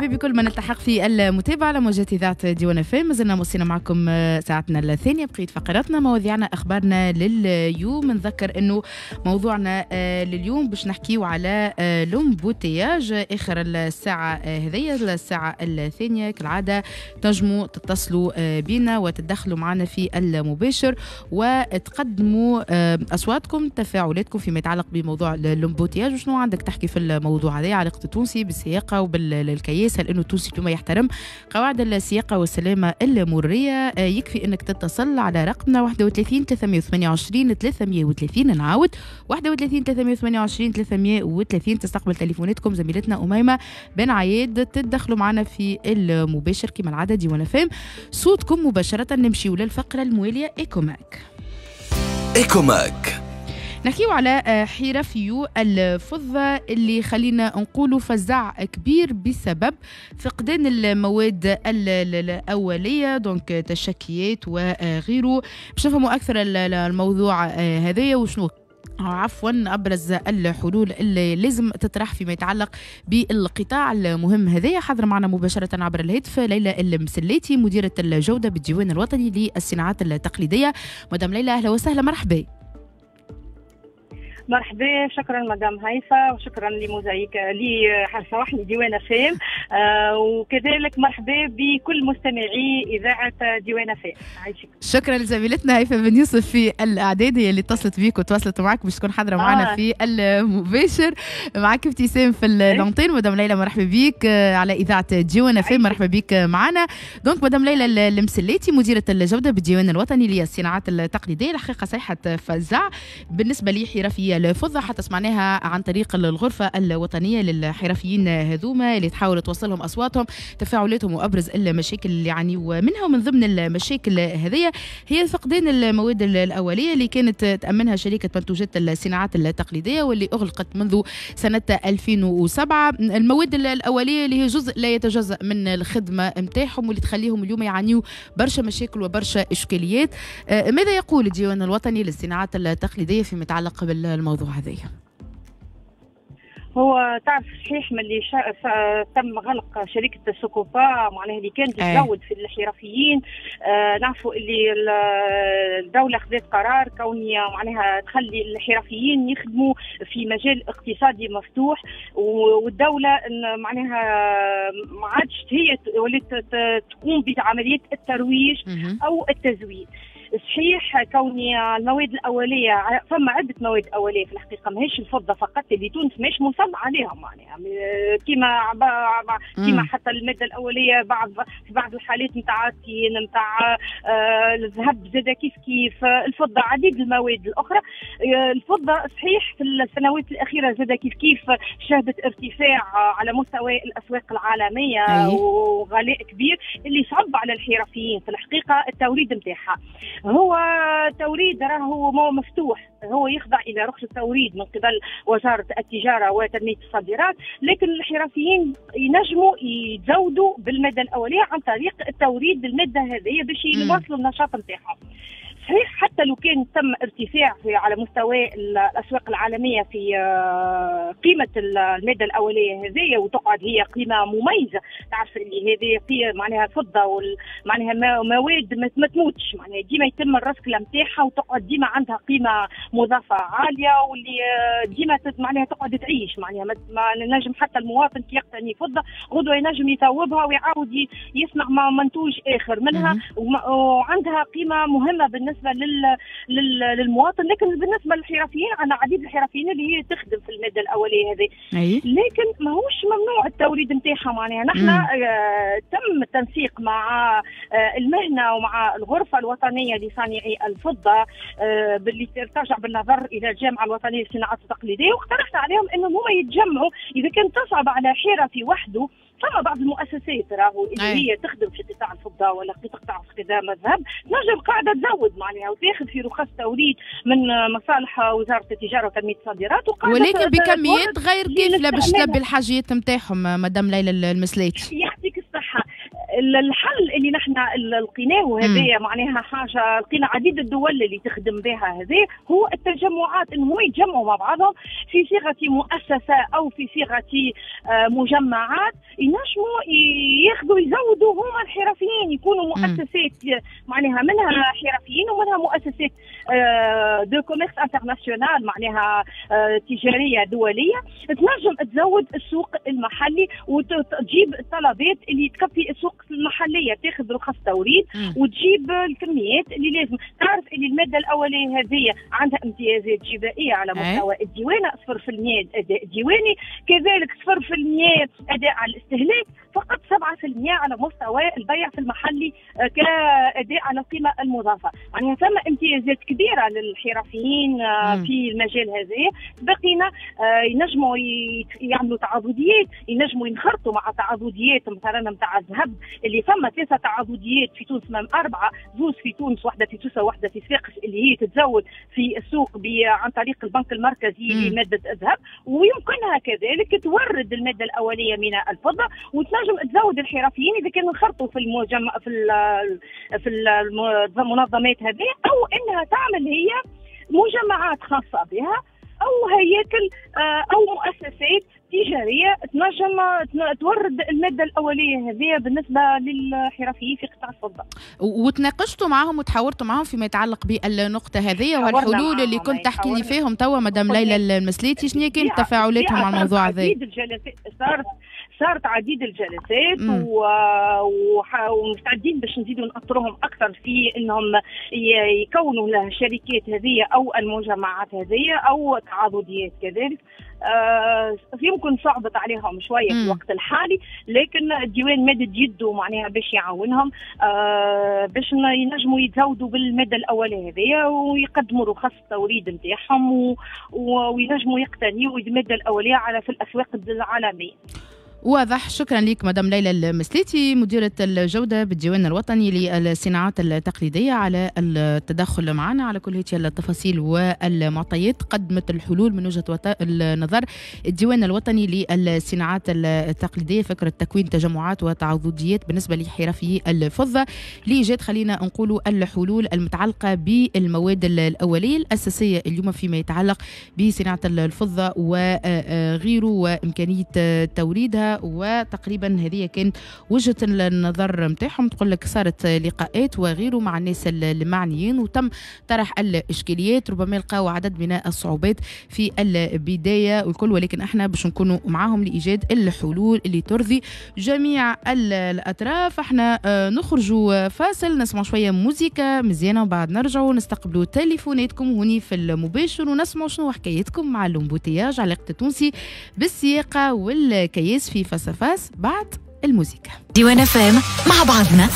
مرحبا بكل من التحق في المتابعة على موجات إذاعة ديوان FM. مازلنا موصلين معكم ساعتنا الثانية، بقية فقراتنا، مواضيعنا، أخبارنا لليوم. نذكر أنه موضوعنا لليوم باش نحكيو على l'embouteillage آخر الساعة هذية، الساعة الثانية. كالعادة تنجموا تتصلوا بنا وتدخلوا معنا في المباشر وتقدموا أصواتكم، تفاعلاتكم فيما يتعلق بموضوع l'embouteillage. وشنو عندك تحكي في الموضوع هذا، علاقة التونسي بالسياقة وبالكياس، هل انه التونسي اليوم يحترم قواعد السياقة والسلامة المرورية؟ يكفي انك تتصل على رقمنا 31 328 330. نعاود 31 328 330. تستقبل تليفوناتكم زميلتنا أميمة بن عياد، تدخلوا معنا في المباشر كما العادة. ديوان FM صوتكم مباشرة. نمشيو للفقرة الموالية Ecomag. Ecomag نحكيو على حرفيو الفضة اللي خلينا نقولوا فزع كبير بسبب فقدان المواد الأولية، donc تشكيات وغيره. باش نفهموا أكثر الموضوع هذايا وشنو أبرز الحلول اللي لازم تطرح فيما يتعلق بالقطاع المهم هذايا. حاضر معنا مباشرة عبر الهاتف ليلى المسلاتي، مديرة الجودة بالديوان الوطني للصناعات التقليدية. مدام ليلى أهلا وسهلا، مرحبا. مرحبا، شكرا مدام هيفا وشكرا لموزايك لي ديوان FM، وكذلك مرحبا بكل مستمعي اذاعة ديوان FM. شكرا لزميلتنا هيفا بن يوسف في الاعداد، هي اللي اتصلت بيك وتواصلت معك باش تكون حاضره معنا في المباشر. معك ابتسام في l'antenne. مدام ليلى مرحبا بيك على اذاعة ديوان FM، مرحبا بيك معنا. donc مدام ليلى المسلاتي، مديره الجودة بالديوان الوطني للصناعات التقليدية، الحقيقة صيحة فزع بالنسبة لحرفيه الفضة، حتى سمعناها عن طريق الغرفة الوطنية للحرفيين هذوما اللي تحاول توصلهم أصواتهم، تفاعلاتهم وأبرز المشاكل اللي يعانيوا منها. ومن ضمن المشاكل هذه هي فقدان المواد الأولية اللي كانت تأمنها شركة منتوجات الصناعات التقليدية واللي أغلقت منذ سنة 2007. المواد الأولية اللي هي جزء لا يتجزأ من الخدمة متاعهم واللي تخليهم اليوم يعانيوا برشا مشاكل وبرشا إشكاليات. ماذا يقول الديوان الوطني للصناعات التقليدية فيما يتعلق بالموضوع هذا؟ هو تعرف صحيح من اللي تم غلق شركة سوكوبا، معناها اللي كانت تزود في الحرفيين. نعرفوا اللي الدولة خذت قرار كوني معناها تخلي الحرفيين يخدموا في مجال اقتصادي مفتوح، والدولة معناها ما عادش هي ولات تقوم بعملية الترويج أو التزويد. صحيح كوني المواد الأولية، فما عدة مواد أولية في الحقيقة، ماهيش الفضة فقط اللي تونس ماهيش مصنعة عليها، معناها كيما حتى المادة الأولية في بعض الحالات نتاع التين، نتاع الذهب زاد كيف كيف، الفضة، عديد المواد الأخرى. الفضة صحيح في السنوات الأخيرة زاد كيف كيف شهدت ارتفاع على مستوى الأسواق العالمية وغلاء كبير اللي صعب على الحرفيين في الحقيقة التوريد نتاعها. هو توريد راهو مفتوح، هو يخضع الى رخصه توريد من قبل وزارة التجارة وتنميه الصادرات، لكن الحرفيين ينجموا يتزودوا بالماده الاولية عن طريق التوريد بالماده هذه باش يواصلوا النشاط نتاعهم. صحيح حتى لو كان تم ارتفاع في على مستوى الاسواق العالمية في قيمة المادة الاولية هذه، وتقعد هي قيمة مميزة، تعرف اللي هذه قيمة معناها فضة معناها مواد ما تموتش، معناها ديما يتم الرسكله نتاعها وتقعد ديما عندها قيمة مضافة عالية، واللي ديما معناها تقعد تعيش، معناها ما نجم حتى المواطن كي يقتني فضة غدوه ينجم يثوبها ويعاود يصنع منتوج اخر منها، وعندها قيمة مهمة بالنسبة للمواطن. لكن بالنسبة للحرفيين، عندنا عديد الحرفيين اللي هي تخدم في المادة الاولية هذه، لكن ماهوش ممنوع التوريد نتاعها. معناها نحن تم التنسيق مع المهنة ومع الغرفة الوطنية لصانعي الفضة باللي ترجع بالنظر الى الجامعة الوطنية للصناعات التقليدية، واقترحنا عليهم انهم هما يتجمعوا اذا كان تصعب على حرفي وحده. فما بعض المؤسسات راهو اللي هي تخدم في قطاع الفضة ولا في قطاع الذهب تنجم قاعدة تزود معناها وتاخذ في رخص توريد من مصالح وزارة التجارة وتنميه الصادرات، ولكن بكميات غير كافيه باش تلبي الحاجيات نتاعهم. مدام ليلى المسلاتي يعطيك الصحة. الحل اللي نحن لقيناه وهذا معناها حاجة لقينا عديد الدول اللي تخدم بها هذا، هو التجمعات، انهم يتجمعوا مع بعضهم في صيغة مؤسسة او في صيغة مجمعات ينجموا الحرفيين، يكونوا مؤسسات معناها منها حرفيين ومنها مؤسسات de commerce international، معناها تجارية دولية، تنجم تزود السوق المحلي وتجيب الطلبات اللي تكفي السوق المحلية، تاخذ رخص توريد وتجيب الكميات اللي لازم. تعرف اللي المادة الاولية هذه عندها امتيازات جبائيه على مستوى الديوانه، 0% اداء ديواني، كذلك 0% اداء على الاستهلاك، فقط 7% على مستوى البيع في المحلي كاداء على القيمة المضافة. يعني ثم امتيازات كبيرة للحرفيين في المجال هذا. بقينا ينجموا يعملوا تعاضديات، ينجموا ينخرطوا مع تعاضديات مثلا نتاع الذهب اللي ثم 3 تعاضديات في تونس، من 4، 2 في تونس، واحدة في سوسة وواحدة في صفاقس، اللي هي تتزود في السوق عن طريق البنك المركزي لمادة الذهب، ويمكنها كذلك تورد المادة الاولية من الفضة وتنجم تزود الحرفيين اذا كانوا انخرطوا في المجمع في المنظمات هذه، او انها تعمل هي مجمعات خاصة بها او هياكل او مؤسسات تجارية تنجم تورد المادة الاولية هذه بالنسبة للحرفيين في قطاع الفضة. وتناقشتوا معهم وتحاورتوا معهم فيما يتعلق بالنقطة هذه والحلول اللي كنت تحكي لي فيهم توا مدام ليلى المسليتي، شنو كانت تفاعلاتهم مع الموضوع هذا؟ صارت عديد الجلسات ومستعدين باش نزيدوا نأطرهم اكثر في انهم يكونوا الشركات هذه او المجمعات هذه او تعاضديات كذلك. يمكن صعبت عليهم شوية في الوقت الحالي، لكن الديوان مدد يده معناها باش يعاونهم باش ينجموا يتزودوا بالماده الاولية هذه ويقدموا رخص التوريد نتاعهم وينجموا يقتنيوا المادة الاولية على في الاسواق العالمية. واضح. شكرا لك مدام ليلى المسليتي، مديرة الجودة بالديوان الوطني للصناعات التقليدية، على التدخل معنا على كل هذه التفاصيل والمعطيات. قدمت الحلول من وجهة النظر الديوان الوطني للصناعات التقليدية، فكرة تكوين تجمعات وتعاضديات بالنسبة لحرفي الفضة لإيجاد خلينا نقولوا الحلول المتعلقة بالمواد الأولية الأساسية اليوم فيما يتعلق بصناعة الفضة وغيره وإمكانية توريدها. وتقريبا هذه كانت وجهة النظر نتاعهم. تقول لك صارت لقاءات وغيره مع الناس المعنيين وتم طرح الاشكاليات، ربما لقاو عدد من الصعوبات في البداية والكل، ولكن احنا باش نكونوا معاهم لايجاد الحلول اللي ترضي جميع الاطراف. احنا نخرجوا فاصل، نسمع شوية موزيكا مزيانه وبعد نرجعوا نستقبلوا تليفوناتكم هوني في المباشر ونسمعوا شنو حكايتكم مع l'embouteillage، علاقة التونسي بالسياقه والكياس في face à face بعد الموسيقى. ديوان FM مع بعضنا.